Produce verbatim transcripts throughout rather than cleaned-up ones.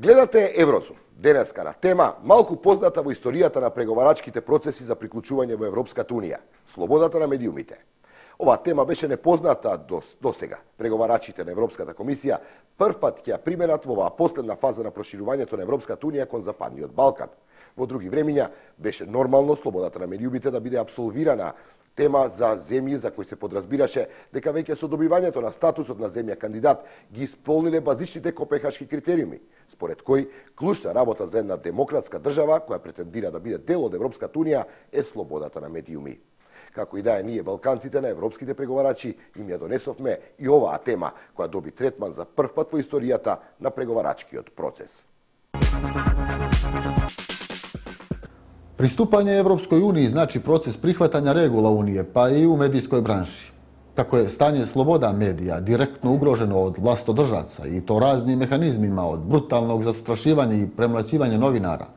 Гледате Еврозум. Денеска на тема малку позната во историјата на преговарачките процеси за приклучување во Европската унија – слободата на медиумите. Оваа тема беше непозната до, до сега. Преговарачите на Европската комисија прв пат ќе ја применат во оваа последна фаза на проширувањето на Европската унија кон Западниот Балкан. Во други времиња беше нормално слободата на медиумите да биде апсолвирана тема за земји за кои се подразбираше дека веќе со добивањето на статусот на земја кандидат ги исполниле базичните копенхашки критериуми, според кои клучна работа за една демократска држава која претендира да биде дел од Европската унија е слободата на медиуми. Како и да е, ние балканците на европските преговарачи им ја донесовме и оваа тема која доби третман за прв пат во историјата на преговарачкиот процес. Приступање Европској унiji значи процес прихватања регула Унije, па и у медијској бранши. Како е стање слобода медија директно угрожено од властодржаца и то разни механизмима од бруталног застрашивање и премлаќивање новинара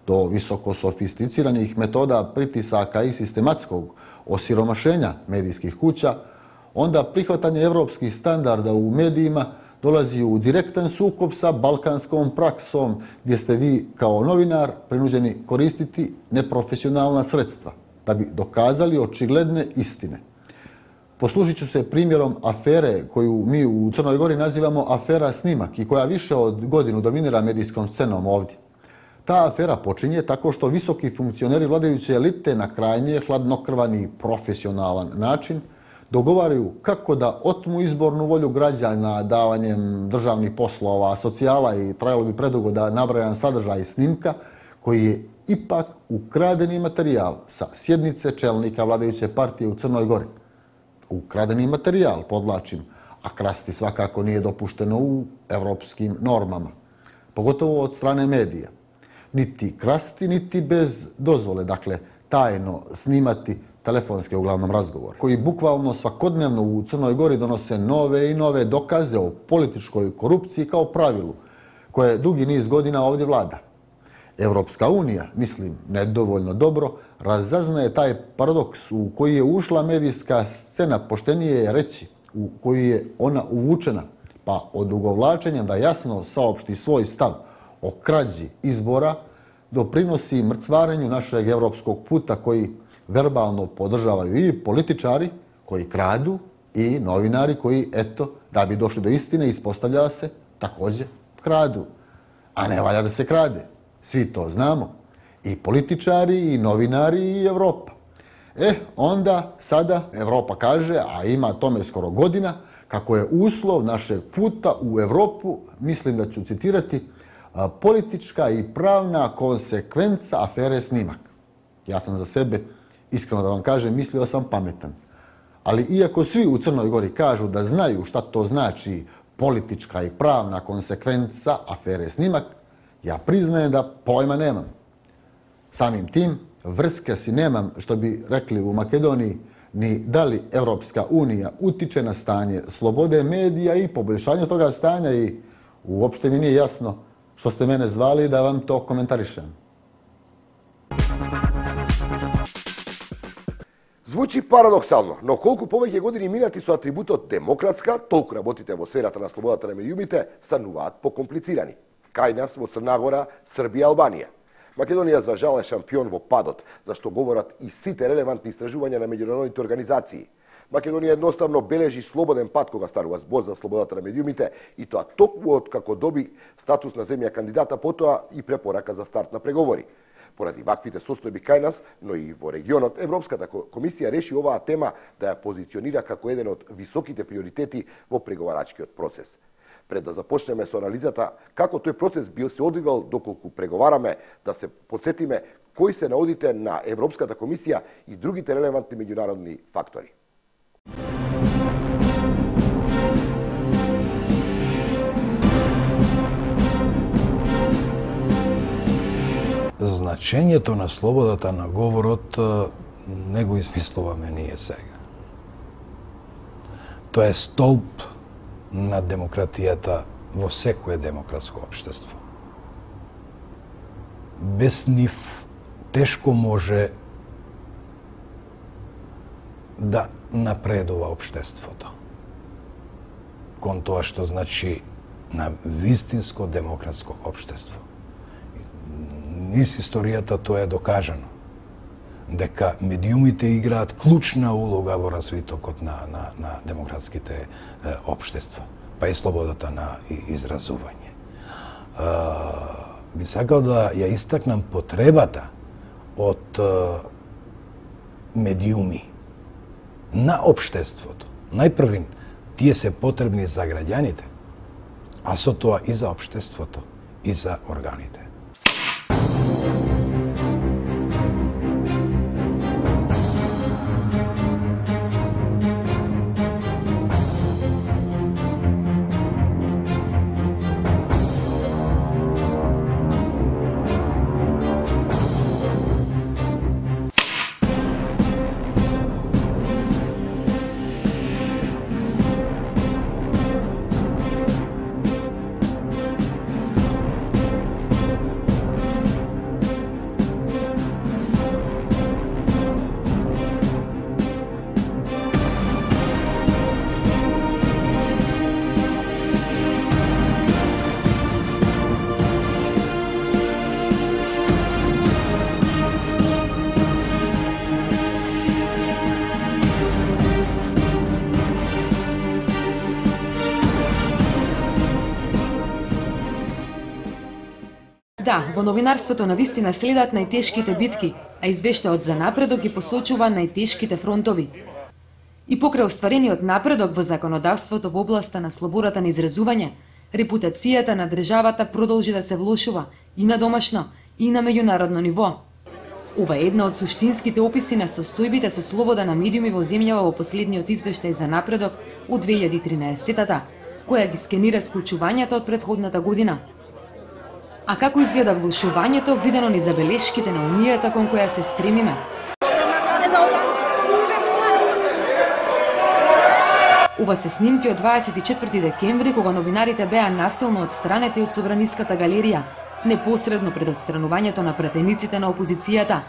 до високо софистицираних метода притисака и систематског осиромашења медијских куќа, онда прихватање европских стандарда у медијима долази у директен сукоп со балканском праксом, гдje сте ви као новинар принуđeni користити непрофесионална средства да би доказали очигледне истине. Послужit ću se primjerom afere koju mi u Crnoj Gori nazivamo afera Snimak i koja više od godinu dominira medijskom scenom ovdje. Ta afera počinje tako što visoki funkcioneri vladajuće elite na krajnje hladnokrvan i profesionalan način dogovaraju kako da otmu izbornu volju građana davanjem državnih poslova, socijala i trajalo bi predugo da nabrajam sadržaj snimka koji je ipak ukradeni materijal sa sjednice čelnika vladajuće partije u Crnoj Gori. Ukradeni materijal, podlačim, a krasti svakako nije dopušteno u evropskim normama, pogotovo od strane medija. Niti krasti, niti bez dozvole, dakle tajno snimati telefonske uglavnom razgovor, koji bukvalno svakodnevno u Crnoj Gori donose nove i nove dokaze o političkoj korupciji kao pravilu, koje dugi niz godina ovdje vlada. Evropska unija, mislim, nedovoljno dobro, razaznaje taj paradoks u koji je ušla medijska scena, poštenije je reći, u koji je ona uvučena, pa odugovlačenja da jasno saopšti svoj stav o krađi izbora doprinosi mrcvarenju našeg evropskog puta koji verbalno podržavaju i političari koji kradu i novinari koji, eto, da bi došli do istine, ispostavlja se, također kradu. A ne valja da se krade. Svi to znamo. I političari, i novinari, i Evropa. E, onda sada Evropa kaže, a ima tome skoro godina, kako je uslov našeg puta u Evropu, mislim da ću citirati, politička i pravna konsekvenca afere Snimak. Ja sam za sebe, iskreno da vam kažem, mislio sam pametan. Ali iako svi u Crnoj Gori kažu da znaju šta to znači politička i pravna konsekvenca afere Snimak, ja priznajem da pojma nemam. Samim tim, vrske si nemam, što bi rekli u Makedoniji, ni da li Evropska unija utiče na stanje slobode medija i poboljšanje toga stanja i uopšte mi nije jasno što ste mene zvali da vam to komentarišem. Звучи парадоксално, но колку повеќе години минати со атрибутот демократска, толку работите во сферата на слободата на медиумите стануваат покомплицирани. Кај нас во Црна Гора, Србија, Албанија. Македонија за жал е шампион во падот, зашто говорат и сите релевантни истражувања на меѓународните организации. Македонија едноставно бележи слободен пат кога станува збор за слободата на медиумите и тоа токму од како доби статус на земја кандидата, потоа и препорака за старт на преговори. Поради ваквите состојби кај нас, но и во регионот, Европската комисија реши оваа тема да ја позиционира како еден од високите приоритети во преговарачкиот процес. Пред да започнеме со анализата како тој процес бил се одвивал доколку преговараме, да се подсетиме кои се наодите на Европската комисија и другите релевантни меѓународни фактори. Значењето на слободата на говорот не го измислуваме ние сега. Тоа е столб на демократијата во секое демократско општество. Без нив тешко може да напредува општеството. Кон тоа што значи на вистинско демократско општество. Низ историјата тоа е докажано, дека медиумите играат клучна улога во развитокот на, на, на демократските е, општества, па и слободата на изразување. Е, би сакал да ја истакнам потребата од е, медиуми на општеството. Најпрвин, тие се потребни за граѓаните, а со тоа и за општеството, и за органите. Да, во новинарството на вистина следат најтешките битки, а извештајот за напредок ги посочува најтешките фронтови. И покрај остварениот напредок во законодавството во областа на слободата на изразување, репутацијата на државата продолжи да се влошува и на домашно, и на меѓународно ниво. Ова е една од суштинските описи на состојбите со слобода на медиуми во земјава во последниот извештај за напредок од две илјади и тринаесетта, која ги скенира склучувањата од претходната година. А како изгледа влошувањето, видено ни забелешките на унијата кон која се стремиме? Ова се снимки од дваесет и четврти декември, кога новинарите беа насилно отстранети од Собраниската галерија, непосредно пред отстранувањето на пратениците на опозицијата.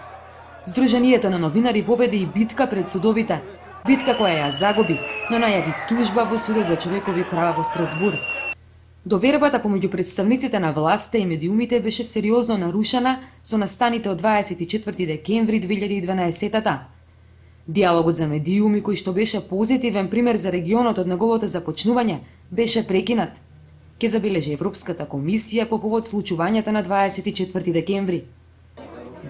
Сдруженијето на новинари поведе и битка пред судовите, битка која ја загуби, но најави тужба во Судот за човекови права во Страсбур. Довербата помеѓу представниците на власта и медиумите беше сериозно нарушена со настаните од дваесет и четврти декември две илјади и дванаесетта. Диалогот за медиуми, кој што беше позитивен пример за регионот од неговото започнување, беше прекинат. Ке забележи Европската комисија по повод случувањата на дваесет и четврти декември.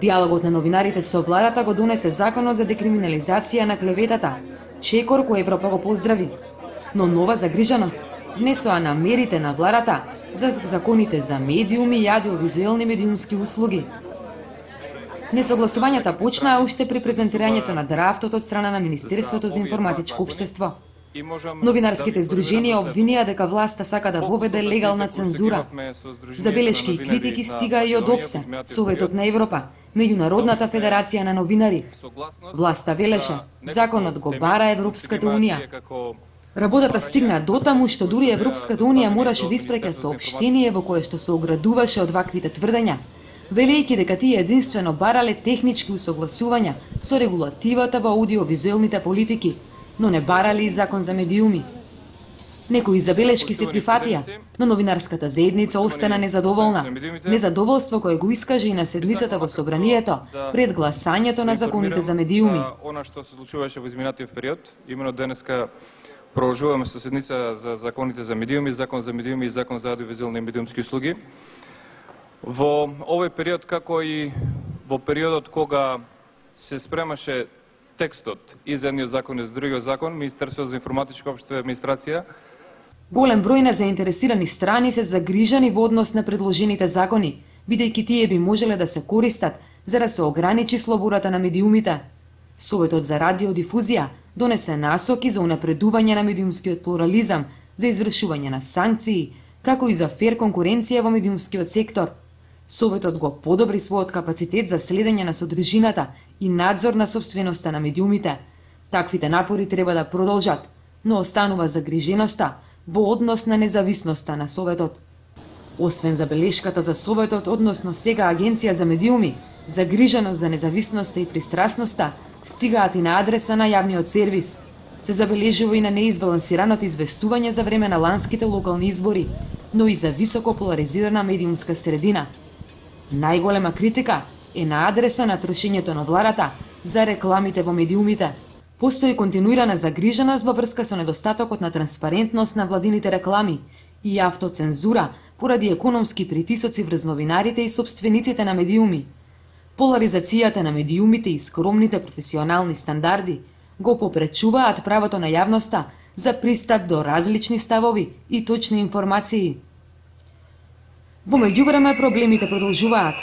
Диалогот на новинарите со владата го донесе законот за декриминализација на клеветата, чекор кој Европа го поздрави. Но нова загриженост внесоа намерите на владата за законите за медиуми и аудиовизуелни медиумски услуги. Несогласувањата почнаа уште при презентирањето на драфтот од страна на Министерството за информатичко општество. Новинарските здруженија обвинија дека власта сака да воведе легална цензура. Забелешки и критики стигаа и од ОПСЕ, Советот на Европа, Меѓународната федерација на новинари. Власта велеше, законот го бара Европската унија. Работата стигна дотаму што дури Европската унија мораше да испраќа соопштение во кое што се оградуваше од ваквите тврдења, велејќи дека тие единствено барале технички усогласувања со регулативата во аудиовизуелните политики, но не барали и закон за медиуми. Некои забелешки се прифатија, но новинарската заедница остана незадоволна. Незадоволство кое го искаже и на седницата во Собранието пред гласањето на законите за медиуми. Она што се случуваше во изминатиот период, именно денеска продолжуваме со седница за законите за медиуми, закон за медиуми и закон за аудиовизуелни медиумски услуги. Во овој период, како и во периодот кога се спремаше текстот и за едниот закон и за другиот закон, Министерството за информатичко општество и администрација, голем број на заинтересирани страни се загрижани во однос на предложените закони, бидејќи тие би можеле да се користат за да се ограничи слободата на медиумите. Советот за радиодифузија донесе насоки за унапредување на медиумскиот плурализам, за извршување на санкции, како и за фер конкуренција во медиумскиот сектор. Советот го подобри својот капацитет за следење на содржината и надзор на собственоста на медиумите. Таквите напори треба да продолжат, но останува загриженоста во однос на независноста на Советот. Освен забелешката за Советот, односно сега Агенција за медиуми, загриженост за независноста и пристрасноста стигаат и на адреса на јавниот сервис. Се забележува и на неизбалансираното известување за време на ланските локални избори, но и за високо поларизирана медиумска средина. Најголема критика е на адреса на трошењето на владата за рекламите во медиумите. Постои континуирана загриженост во врска со недостатокот на транспарентност на владините реклами и автоцензура поради економски притисоци врз новинарите и собствениците на медиуми. Поларизацијата на медиумите и скромните професионални стандарди го попречуваат правото на јавноста за пристап до различни ставови и точни информации. Во меѓувреме проблемите продолжуваат.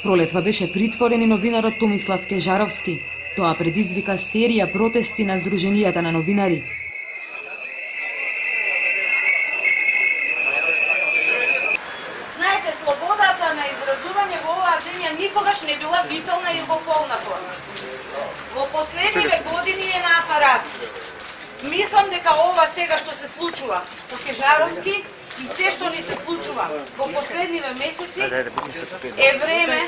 Пролетва беше притворен и новинарот Томислав Кежаровски. Тоа предизвика серија протести на Сдруженијата на новинари. Знаете, слободата на изразување во оваа земја никогаш не била витална и во полна форма. Во последниве години е на апарат. Мислам дека ова сега што се случува со Кежаровски и се што ни се случува во последниве месеци е време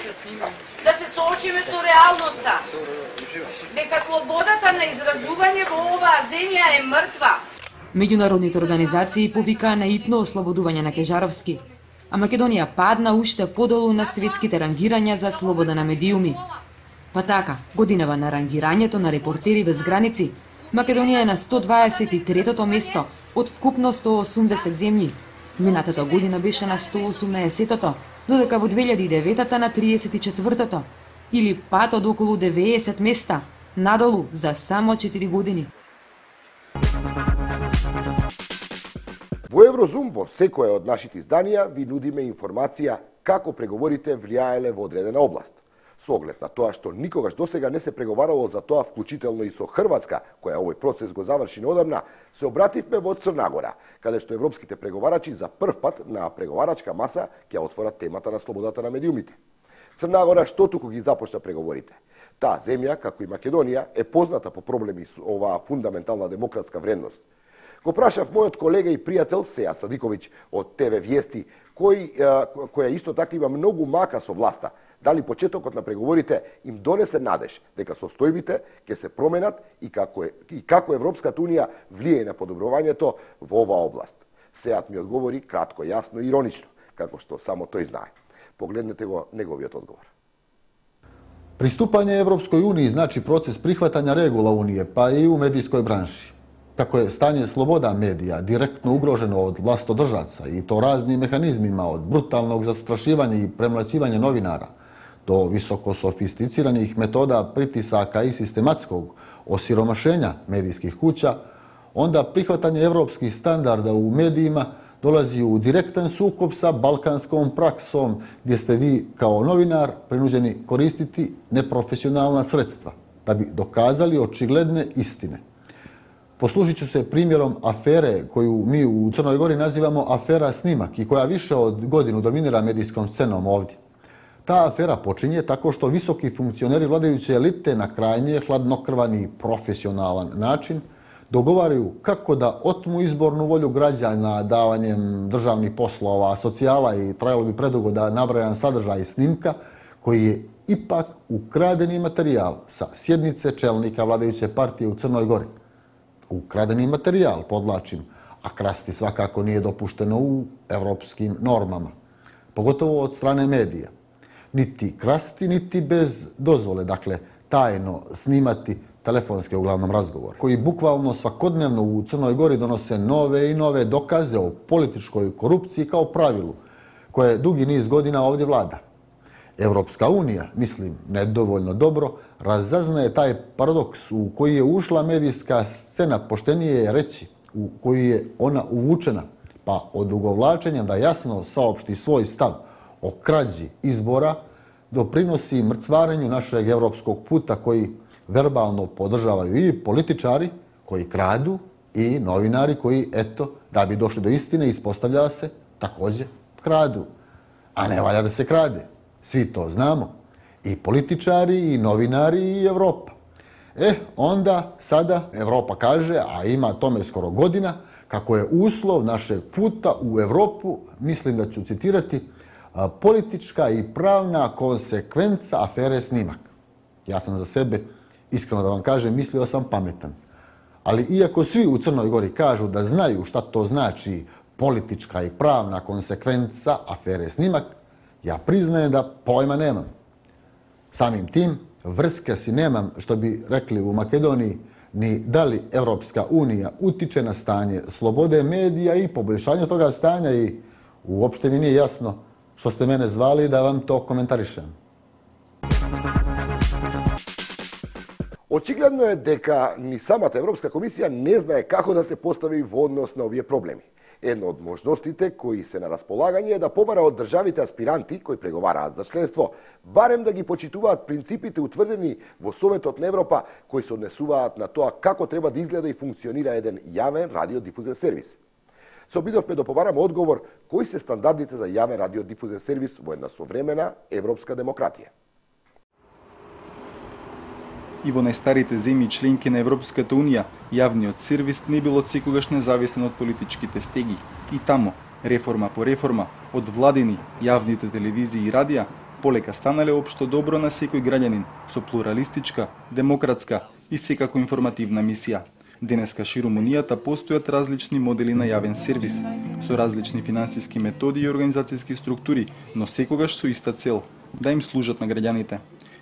да се соочиме со реалноста. Дека слободата на изразување во оваа земја е мртва. Меѓународните организации повикаа на итно ослободување на Кежаровски, а Македонија падна уште подолу на светските рангирања за слобода на медиуми. Па така, годинава на рангирањето на Репортери без граници, Македонија е на сто дваесет и третото место од вкупно сто осумдесет земји. Минатата година беше на сто осумнаесеттото, додека во две илјади и деветата на триесет и четвртото, или пат од околу деветдесет места, надолу за само четири години. Во Еврозум, во секое од нашите изданија, ви нудиме информација како преговорите влијаеле во одредена област. Со оглед на тоа што никогаш досега не се преговарало за тоа, вклучително и со Хрватска, која овој процес го заврши неодамна, се обративме во Црна Гора, каде што европските преговарачи за прв пат на преговарачка маса ќе отворат темата на слободата на медиумите. Црна Гора што туку ги започна преговорите. Таа земја, како и Македонија, е позната по проблеми со оваа фундаментална демократска вредност. Го прашав мојот колега и пријател Сеја Садиковиќ од Те Ве Виести, кој, која исто така има многу мака со власта, дали почетокот на преговорите им донесе надеж дека состојбите ќе се променат и како, е, и како Европската Унија влие на подобрувањето во оваа област. Сејат ми одговори кратко, јасно и иронично, како што само тој знае. Погледнете го неговиот одговор. Приступање Европској Унiji значи процес прихватања регула Унije, па и у медијској бранши. Како е стање слобода медија директно угрожено од властодržaca и то разни механизмима од бруталnog застрашивања и премлаќивање новинара до високо софистицираних метода притисака и систематскog осиромашења медијских куќа, онда прихватање европских стандарда у медијима долази у директен сукоb sa балканском праксом, gdje ste vi kao novinar prinuđeni koristiti neprofesionalna sredstva da bi dokazali očigledne istine. Poslužit ću se primjerom afere koju mi u Crnoj Gori nazivamo afera Snimak i koja više od godinu dominira medijskom scenom ovdje. Ta afera počinje tako što visoki funkcioneri vladajuće elite na krajnje hladnokrvan i profesionalan način dogovaraju kako da otmu izbornu volju građana davanjem državnih poslova, socijala i trajalo bi predugo da nabrajam sadržaj snimka koji je ipak ukradeni materijal sa sjednice čelnika vladajuće partije u Crnoj Gori. Ukradeni materijal, podlačim, a krasti svakako nije dopušteno u evropskim normama, pogotovo od strane medija. Niti krasti, niti bez dozvole, dakle tajno snimati telefonske uglavnom razgovor, koji bukvalno svakodnevno u Crnoj Gori donose nove i nove dokaze o političkoj korupciji kao pravilu, koje dugi niz godina ovdje vlada. Evropska unija, mislim, nedovoljno dobro, razaznaje taj paradoks u koji je ušla medijska scena, poštenije je reći, u koji je ona uvučena, pa odugovlačenjem da jasno saopšti svoj stav o krađi izbora doprinosi mrcvarenju našeg evropskog puta koji verbalno podržavaju i političari koji kradu i novinari koji, eto, da bi došli do istine, ispostavlja se, također kradu. A ne valja da se krade. Svi to znamo. I političari, i novinari, i Evropa. E, onda sada Evropa kaže, a ima tome skoro godina, kako je uslov našeg puta u Evropu, mislim da ću citirati, politička i pravna konsekvenca afere Snimak. Ja sam za sebe, iskreno da vam kažem, mislio sam pametan. Ali iako svi u Crnoj Gori kažu da znaju šta to znači politička i pravna konsekvenca afere Snimak, ja priznajem da pojma nemam. Samim tim, vrske si nemam, što bi rekli u Makedoniji, ni da li Evropska unija utiče na stanje slobode medija i poboljšanje toga stanja i uopšte mi nije jasno što ste mene zvali da vam to komentarišem. Очигледно е дека ни самата Европска комисија не знае како да се постави во однос на овие проблеми. Една од можностите кои се на располагање е да побара од државите аспиранти кои преговараат за членство, барем да ги почитуваат принципите утврдени во Советот на Европа кои се однесуваат на тоа како треба да изгледа и функционира еден јавен радиодифузен сервис. Се обидовме да побараме одговор кои се стандардите за јавен радиодифузен сервис во една современа европска демократија. И во најстарите земји членки на Европската Унија, јавниот сервис не бил од секогаш независен од политичките стеги. И тамо, реформа по реформа, од владини, јавните телевизии и радија, полека станале општо добро на секој граѓанин, со плуралистичка, демократска и секако информативна мисија. Денеска ширум Унијата постојат различни модели на јавен сервис, со различни финансиски методи и организацијски структури, но секогаш со иста цел – да им служат на граѓаните.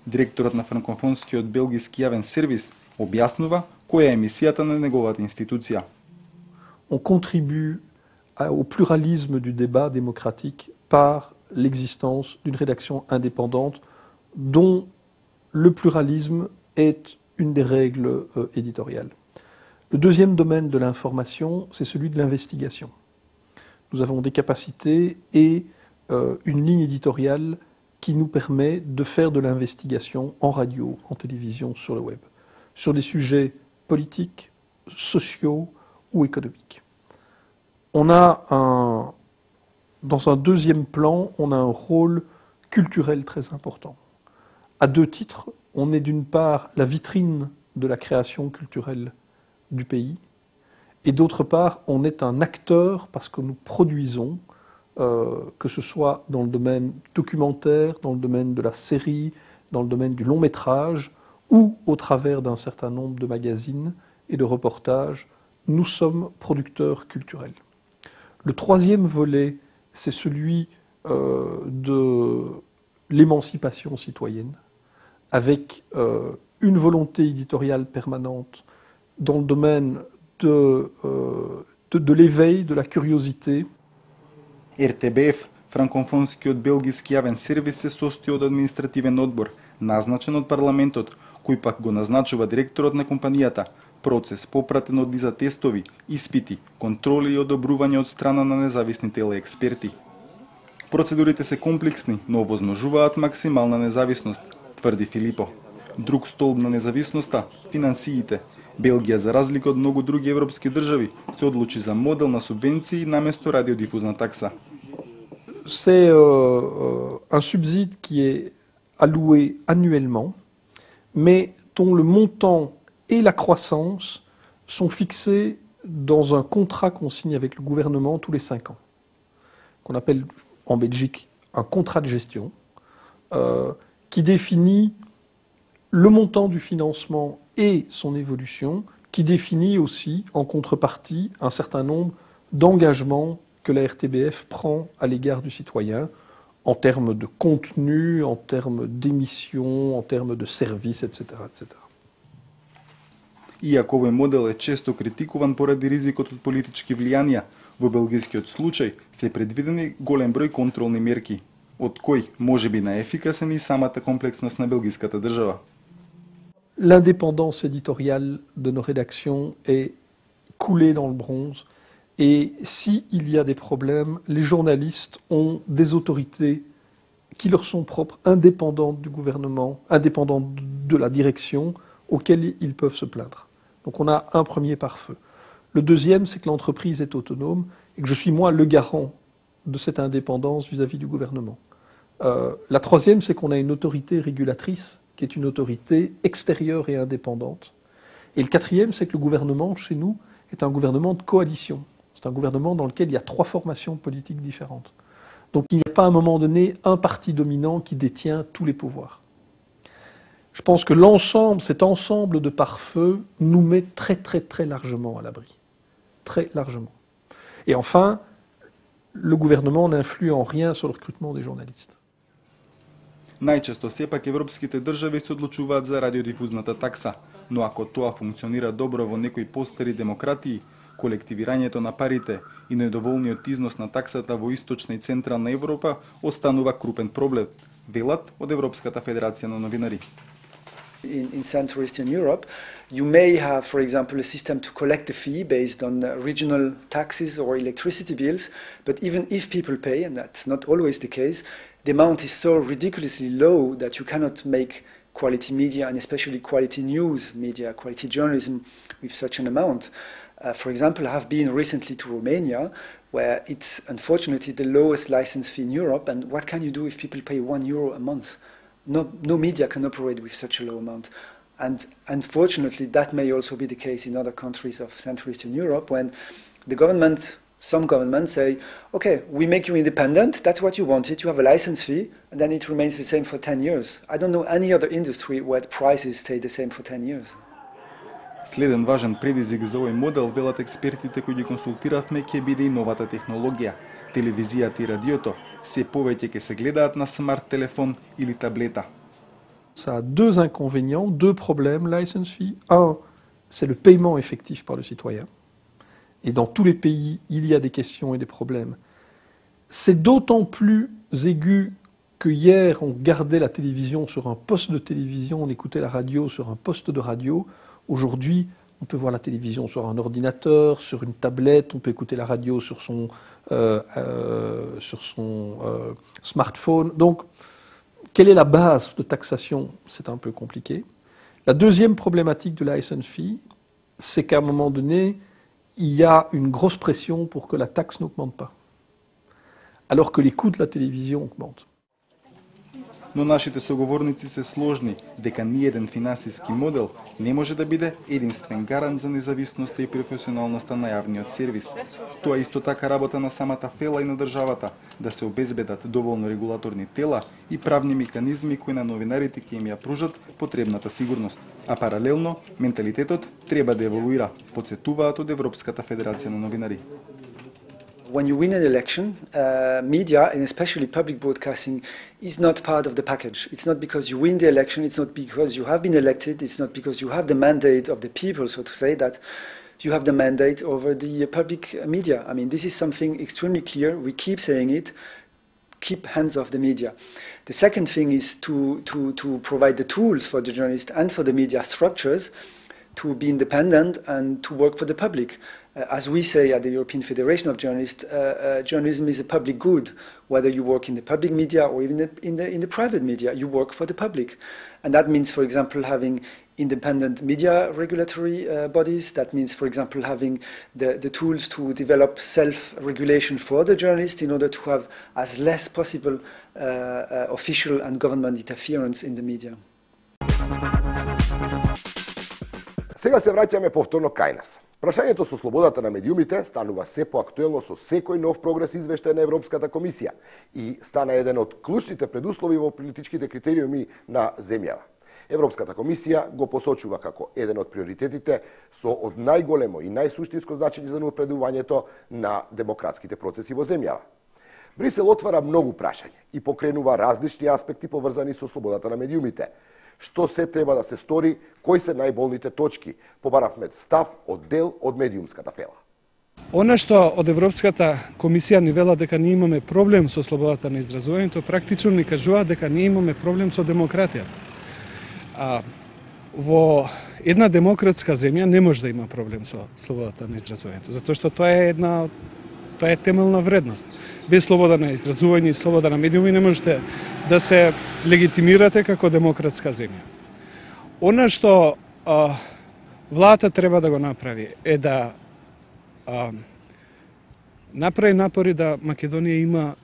Директорот на франкофонскиот белгиски јавен сервис објаснува која е мисијата на неговата институција. On contribue au pluralisme du débat démocratique par l'existence d'une rédaction indépendante dont le pluralisme est une des règles euh, éditoriales. Le deuxième domaine de l'information, c'est celui de l'investigation. Nous avons des capacités et euh, une ligne éditoriale qui nous permet de faire de l'investigation en radio, en télévision, sur le web, sur des sujets politiques, sociaux ou économiques. On a un, dans un deuxième plan, on a un rôle culturel très important. À deux titres, on est d'une part la vitrine de la création culturelle du pays, et d'autre part, on est un acteur parce que nous produisons Euh, que ce soit dans le domaine documentaire, dans le domaine de la série, dans le domaine du long métrage, ou au travers d'un certain nombre de magazines et de reportages, nous sommes producteurs culturels. Le troisième volet, c'est celui euh, de l'émancipation citoyenne, avec euh, une volonté éditoriale permanente dans le domaine de, euh, de, de l'éveil, de la curiosité. Р Т Б Ф, франкофонскиот белгиски јавен сервис, се состои од административен одбор, назначен од парламентот, кој пак го назначува директорот на компанијата, процес попратен од низа тестови, испити, контроли и одобрување од страна на независни телеексперти. Процедурите се комплексни, но овозможуваат максимална независност, тврди Филипо. Друг столб на независноста – финансиите. Белгија, за разлика од многу други европски држави, се одлучи за модел на субвенции наместо радиодифузна такса. C'est euh, un subside qui est alloué annuellement, mais dont le montant et la croissance sont fixés dans un contrat qu'on signe avec le gouvernement tous les cinq ans, qu'on appelle en Belgique un contrat de gestion, euh, qui définit le montant du financement et son évolution, qui définit aussi, en contrepartie, un certain nombre d'engagements que la R T B F prend à l'égard du citoyen, en termes de contenu, en termes d'émissions, en termes de services, et cetera, et cetera. Иако овој модел е често критикуван поради ризикот од политички влијанија, во белгискиот случај се предвидени голем број контролни мерки, од кои може би наефикасен и самата комплексност на белгиската држава. L'indépendance éditoriale de nos rédactions est coulée dans le bronze. Et s'il y a des problèmes, les journalistes ont des autorités qui leur sont propres, indépendantes du gouvernement, indépendantes de la direction, auxquelles ils peuvent se plaindre. Donc on a un premier pare-feu. Le deuxième, c'est que l'entreprise est autonome et que je suis moi le garant de cette indépendance vis-à-vis du gouvernement. Euh, la troisième, c'est qu'on a une autorité régulatrice qui est une autorité extérieure et indépendante. Et le quatrième, c'est que le gouvernement, chez nous, est un gouvernement de coalition. C'est un gouvernement dans lequel il y a trois formations politiques différentes. Donc il n'y a pas à un moment donné un parti dominant qui détient tous les pouvoirs. Je pense que l'ensemble, cet ensemble de pare-feu nous met très très très largement à l'abri. Très largement. Et enfin, le gouvernement n'influe en rien sur le recrutement des journalistes. Најчесто сепак европските држави се одлучуваат за радиодифузната такса, но ако тоа функционира добро во некои постари демократии, колективирањето на парите и недоволниот износ на таксата во источна и централна Европа останува крупен проблем, велат од Европската федерација на новинари. In, in Central Eastern Europe, you may have, for example, a system to collect a fee based on uh, regional taxes or electricity bills, but even if people pay, and that's not always the case, the amount is so ridiculously low that you cannot make quality media, and especially quality news media, quality journalism with such an amount. Uh, for example, I have been recently to Romania, where it's unfortunately the lowest license fee in Europe, and what can you do if people pay one euro a month? No, no media can operate with such a low amount. And unfortunately, that may also be the case in other countries of Central Eastern Europe, when the government, some governments say, okay, we make you independent, that's what you wanted, you have a license fee, and then it remains the same for ten years. I don't know any other industry where the prices stay the same for ten years. Следен важен предизвик за овој модел, велат експертите кои ги консултиравме, ќе биде и новата технологија. Телевизијата и радиото се повеќе ќе се гледаат на смарт телефон или таблета. Ça a deux inconvénients, deux problèmes, license fee. Un, c'est le paiement effectif par le citoyen. Et dans tous les pays, il y a des questions et des problèmes. C'est d'autant plus aigu que hier, on gardait la télévision sur un poste de télévision, on écoutait la radio sur un poste de radio. Aujourd'hui, on peut voir la télévision sur un ordinateur, sur une tablette, on peut écouter la radio sur son, euh, euh, sur son euh, smartphone. Donc, quelle est la base de taxation? C'est un peu compliqué. La deuxième problématique de la license fee, c'est qu'à un moment donné, il y a une grosse pression pour que la taxe n'augmente pas, alors que les coûts de la télévision augmentent. Но нашите соговорници се сложни дека ниеден финансиски модел не може да биде единствен гарант за независноста и професионалноста на јавниот сервис. Тоа исто така работа на самата фела и на државата да се обезбедат доволно регулаторни тела и правни механизми кои на новинарите ќе им ја пружат потребната сигурност. А паралелно, менталитетот треба да еволуира, потсетуваат од Европската федерација на новинари. When you win an election, uh, media, and especially public broadcasting, is not part of the package. It's not because you win the election, it's not because you have been elected, it's not because you have the mandate of the people, so to say, that you have the mandate over the public media. I mean, this is something extremely clear. We keep saying it. Keep hands off the media. The second thing is to, to, to provide the tools for the journalists and for the media structures to be independent and to work for the public. Uh, as we say at the European Federation of Journalists, uh, uh, journalism is a public good. Whether you work in the public media or even in the, in the private media, you work for the public. And that means, for example, having independent media regulatory uh, bodies. That means, for example, having the, the tools to develop self-regulation for the journalists in order to have as less possible uh, uh, official and government interference in the media. Сега се враќаме повторно кај нас. Прашањето со слободата на медиумите станува се поактуелно со секој нов прогрес извештај на Европската комисија и стана еден од клучните предуслови во политичките критериуми на земјава. Европската комисија го посочува како еден од приоритетите со од најголемо и најсуштинско значење за напредувањето на демократските процеси во земјава. Брисел отвара многу прашања и покренува различни аспекти поврзани со слободата на медиумите. Што се треба да се стори, кои се најболните точки, побаравме став од дел од медиумската фела. Она што од Европската комисија ни вела дека ние имаме проблем со слободата на изразувањето, практично ни кажува дека ние имаме проблем со демократијата. А, во една демократска земја не може да има проблем со слободата на изразувањето, затоа што тоа е една тоа е темелна вредност. Без слобода на изразување и слобода на медиуми не можете да се легитимирате како демократска земја. Она што а, владата треба да го направи е да а, направи напори да Македонија има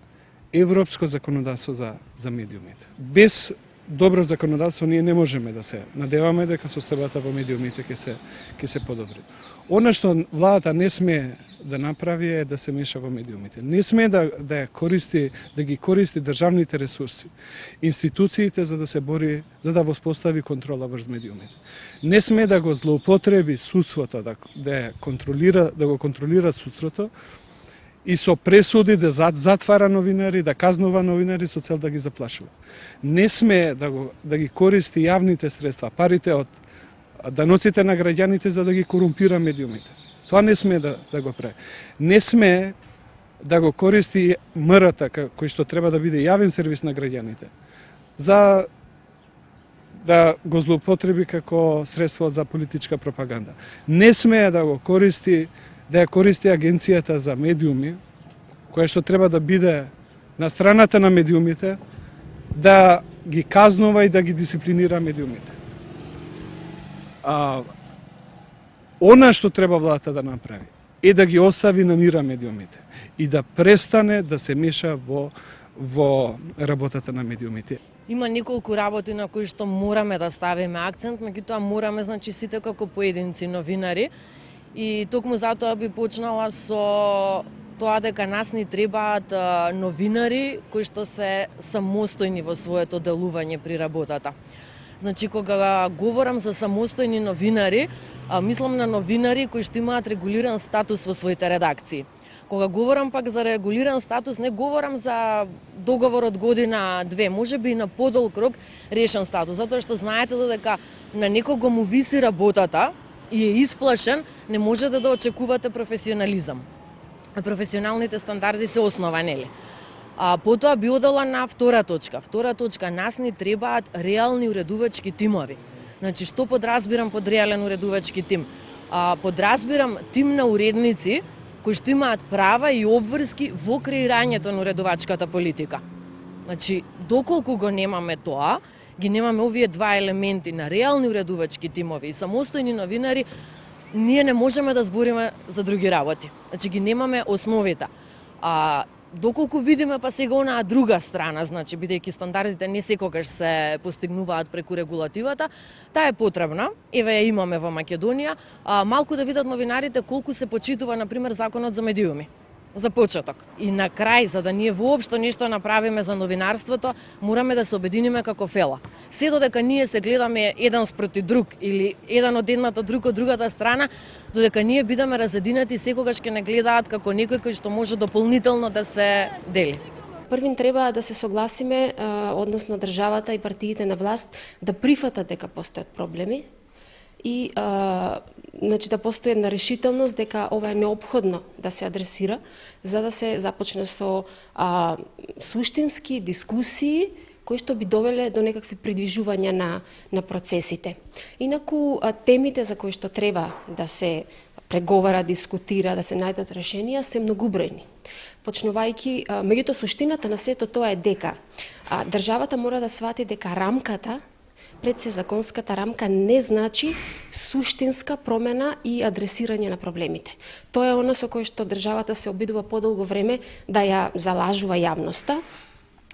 европско законодавство за, за медиумите. Без добро законодавство ние не можеме да се надеваме дека состојбата во медиумите ќе се ќе се подобри. Она што владата не сме да направи е да се меша во медиумите. Не сме да да користи да ги користи државните ресурси, институциите за да се бори, за да воспостави контрола врз медиумите. Не сме да го злоупотреби судството, да да контролира, да го контролира судството и со пресуди да затвара новинари, да казнува новинари со цел да ги заплашува. Не сме да, го, да ги користи јавните средства, парите од даноците на граѓаните за да ги корумпира медиумите. Тоа не сме да, да го прави. Не сме да го користи МРТ, кој што треба да биде јавен сервис на граѓаните, за да го злоупотреби како средство за политичка пропаганда. Не сме да го користи, да ја користи Агенцијата за медиуми, која што треба да биде на страната на медиумите, да ги казнува и да ги дисциплинира медиумите. А, она што треба владата да направи е да ги остави на мира медиумите и да престане да се меша во, во работата на медиумите. Има неколку работи на кои што мораме да ставиме акцент, меѓутоа мораме, значи, сите како поединци новинари, и токму затоа би почнала со тоа дека нас ни требаат новинари кои што се самостојни во своето делување при работата. Значи, кога говорам за самостојни новинари, мислам на новинари кои што имаат регулиран статус во своите редакции. Кога говорам пак за регулиран статус, не говорам за договор од година две, може би и на подолг рок решен статус, затоа што знаете додека на некого му виси работата и е исплашен, не можете да очекувате професионализам. Професионалните стандарди се основа, нели? А потоа би одела на втора точка. Втора точка, нас ни требаат реални уредувачки тимови. Значи, што подразбирам под реален уредувачки тим? А, подразбирам тим на уредници кои што имаат права и обврски во креирањето на уредувачката политика. Значи, доколку го немаме тоа, ги немаме овие два елементи на реални уредувачки тимови и самостојни новинари, ние не можеме да збориме за други работи. Значи, ги немаме основите. А доколку видиме па сега онаа друга страна, значи, бидејќи стандардите не секогаш се постигнуваат преку регулативата, таа е потребна, еве ја имаме во Македонија, а, малку да видат новинарите колку се почитува, например, законот за медиуми. За почеток. И на крај, за да ние воопшто нешто направиме за новинарството, мораме да се обединиме како фела. Се додека ние се гледаме еден спроти друг или еден од едната, друг од другата страна, додека ние бидеме разединати, секогаш ќе не гледаат како некој кој што може дополнително да се дели. Првин треба да се согласиме, односно државата и партиите на власт, да прифатат дека постојат проблеми и а, значи, да постои една решителност дека ова е неопходно да се адресира, за да се започне со а, суштински дискусии кои што би довеле до некакви придвижувања на, на процесите. Инаку, а, темите за кои што треба да се преговара, дискутира, да се најдат решенија, се многубројни. Почнувајќи, меѓуто суштината на сето тоа е дека а, државата мора да свати дека рамката, пред се законската рамка, не значи суштинска промена и адресирање на проблемите. Тоа е оно со кое што државата се обидува подолго време да ја залажува јавноста,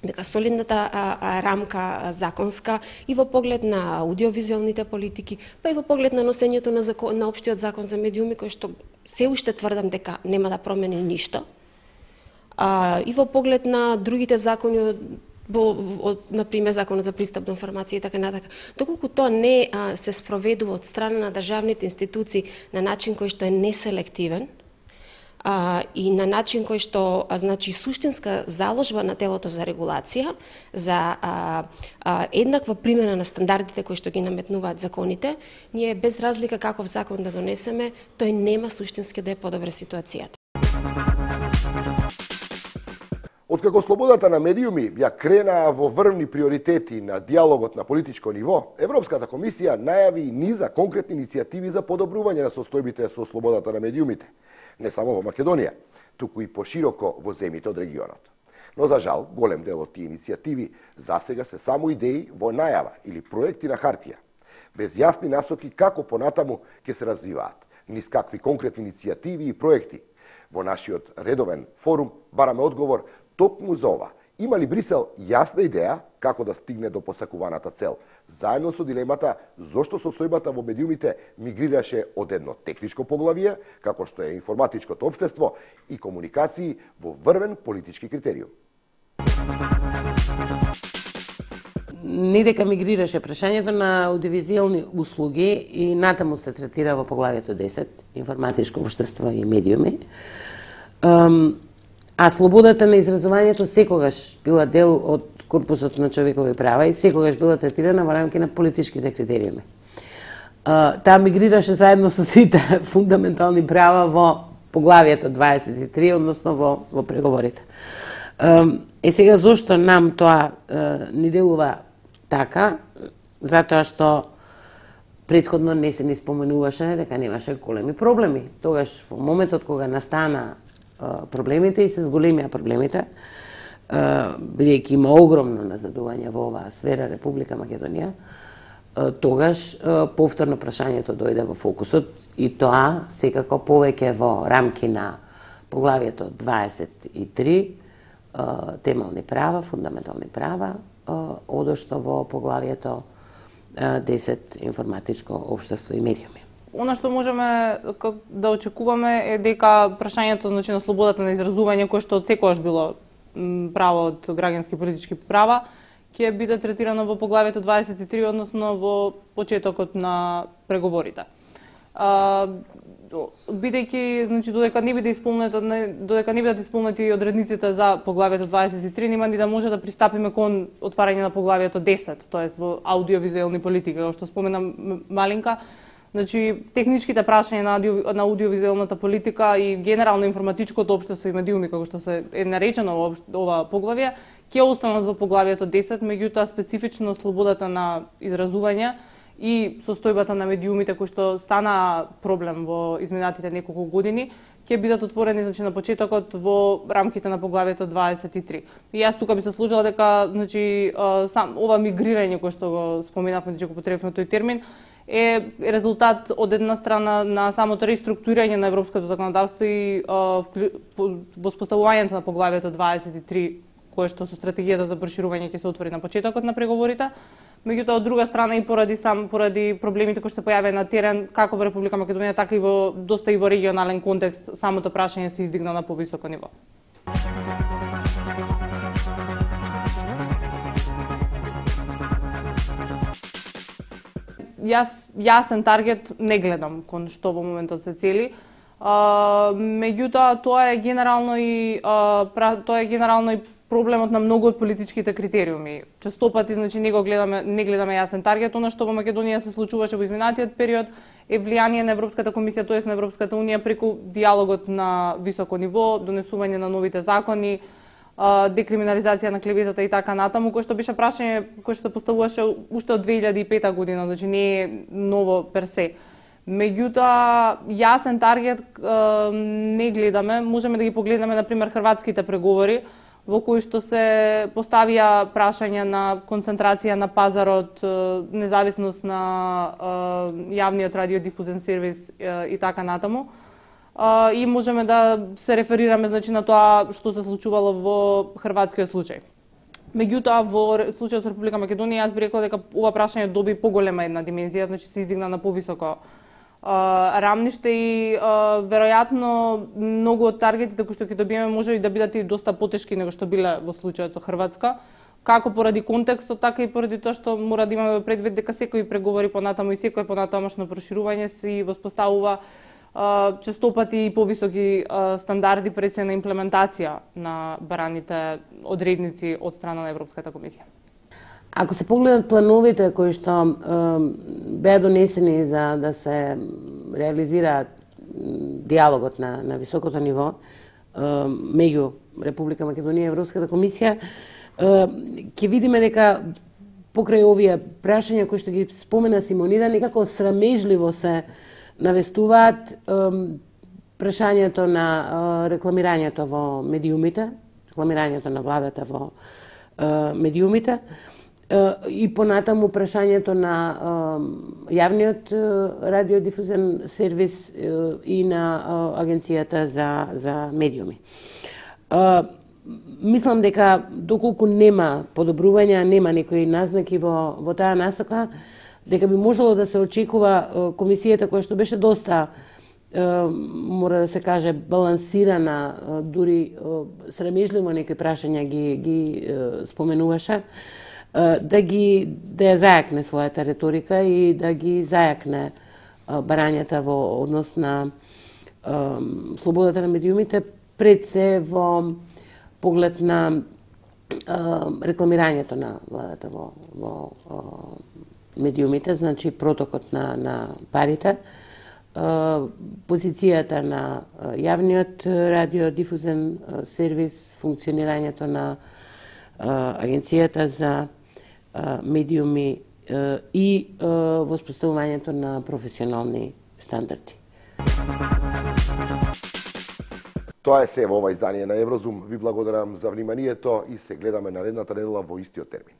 дека солидната а, а, рамка законска и во поглед на аудиовизуалните политики, па и во поглед на носењето на, закон, на општиот закон за медиуми, кој што се уште тврдам дека нема да промени ништо, а, и во поглед на другите закони, Бо, од, например, законот за пристап до информација и така натака. Доколку тоа не а, се спроведува од страна на државните институции на начин кој што е неселективен а, и на начин кој што а, значи суштинска заложба на телото за регулација, за а, а, еднаква примена на стандардите кои што ги наметнуваат законите, ние без разлика каков закон да донесеме, тој нема суштински да е подобра ситуацијата. Откако слободата на медиуми ја кренаа во врвни приоритети на диалогот на политичко ниво, Европската комисија најави и низа конкретни иницијативи за подобрување на состојбите со слободата на медиумите, не само во Македонија, туку и пошироко во земјите од регионот. Но за жал, голем дел од тие иницијативи засега се само идеи во најава или проекти на хартија, без јасни насоки како понатаму ќе се развиваат, низ какви конкретни иницијативи и проекти. Во нашиот редовен форум бараме одговор токму за ова. Има ли Брисел јасна идеја како да стигне до посакуваната цел, заедно со дилемата зошто состојбата во медиумите мигрираше од едно техничко поглавие, како што е информатичкото општество, и комуникации во врвен политички критериум? Не дека мигрираше прашањето на аудиовизуелни услуги и натаму се третира во поглавието десет, информатичко општество и медиуми. А слободата на изразувањето секогаш била дел од корпусот на човекови права и секогаш била третирана во рамки на политичките критериуми. Таа мигрираше заедно со сите фундаментални права во поглавието дваесет и три, односно во, во преговорите. Е сега, зошто нам тоа ни делува така? Затоа што претходно не се ни споменуваше дека немаше големи проблеми. Тогаш, во моментот кога настана проблемите и се зголемија проблемите, бидејќи има огромно назадување во оваа сфера Република Македонија, тогаш повторно прашањето дојде во фокусот и тоа секако повеќе во рамки на поглавието дваесет и три, темелни права, фундаментални права, одошто во поглавието десет, информатичко општество и медиуми. Она што можеме да очекуваме е дека прашањето, значи, на слободата на изразување, кое што секогаш било право од граѓански и политички права, ќе биде третирано во поглавието дваесет и три, односно во почетокот на преговорите. Бидејќи, значи, додека не биде исполнета, додека не бидат исполнети одредниците за поглавието дваесет и три, нема ни да може да пристапиме кон отварање на поглавието десет, тоест во аудиовизуелни политики, како што спомена Малинка. Значи, техничките прашања на, аудио, на аудиовизуелната политика и генерално информатичкото општество и медиуми, како што се е наречено во ова поглавие, ќе останат во поглавието десет, меѓутоа специфично слободата на изразување и состојбата на медиумите кои што стана проблем во изминатите неколку години, ќе бидат отворени, значи, на почетокот во рамките на поглавието дваесет и три. И јас тука би се сложила дека, значи, сам ова мигрирање кое што го споменавме, дека потребно тој термин, е резултат од една страна на самото реструктурирање на европското законодавство и воспоставувањето на поглавието дваесет и три, кое што со стратегијата за проширување ќе се отвори на почетокот на преговорите. Меѓутоа, од друга страна и поради сам поради проблемите кои што се појавија на терен, како во Република Македонија, така и во доста и во регионален контекст, самото прашање се издигна на повисоко ниво. Јас јасен таргет не гледам кон што во моментот се цели. А, меѓутоа тоа е генерално и а, тоа е генерално и проблемот на многу од политичките критериуми. Често пати, значи, не го гледаме, не гледаме јасен таргет. Она што во Македонија се случуваше во изминатиот период е влијание на Европската комисија, тоест на Европската унија, преку диалогот на високо ниво, донесување на новите закони, декриминализација на клеветата и така натаму, кој што беше прашање кој што се поставуваше уште од две илјади и пета година, значи не е ново персе. Меѓутоа, јасен таргет не гледаме, можеме да ги погледнеме, например, хрватските преговори, во кои што се поставија прашања на концентрација на пазарот, независност на јавниот радиодифузен сервис и така натаму. И можеме да се реферираме, значи, на тоа што се случувало во хрватскиот случај. Меѓутоа, во случајот со Република Македонија, јас би рекла дека ова прашање доби поголема една димензија, значи се издигна на повисоко рамниште и веројатно многу од таргетите кои што ќе добиеме може и да бидат и доста потешки него што биле во случајот со Хрватска, како поради контекстот, така и поради тоа што мора да имаме предвид дека секои преговори понатаму и секој понатамошно проширување се воспоставува често пати и повисоки стандарди пред се на имплементација на бараните одредници од страна на Европската комисија. Ако се погледнат плановите кои што е, беа донесени за да се реализира диалогот на, на високото ниво е, меѓу Република Македонија и Европската комисија, ќе видиме дека покрај овие прашања кои што ги спомена Симонида, некако срамежливо се навестуваат прашањето на рекламирањето во медиумите, рекламирањето на владата во медиумите и понатаму прашањето на јавниот радиодифузен сервис и на Агенцијата за, за медиуми. Мислам дека доколку нема подобрувања, нема некои назнаки во, во таа насока, дека би можело да се очекува комисијата која што беше доста, мора да се каже, балансирана, дури срамежливо некои прашања ги, ги споменуваше, да ги да ја зајакне својата реторика и да ги зајакне барањата во однос на слободата на медиумите пред се во поглед на рекламирањето на владата во, во медиумите, значи протокот на, на парите, позицијата на јавниот радиодифузен сервис, функционирањето на агенцијата за медиуми и воспоставувањето на професионални стандарди. Тоа е се во ова издание на Еврозум. Ви благодарам за вниманието и се гледаме наредната недела во истиот термин.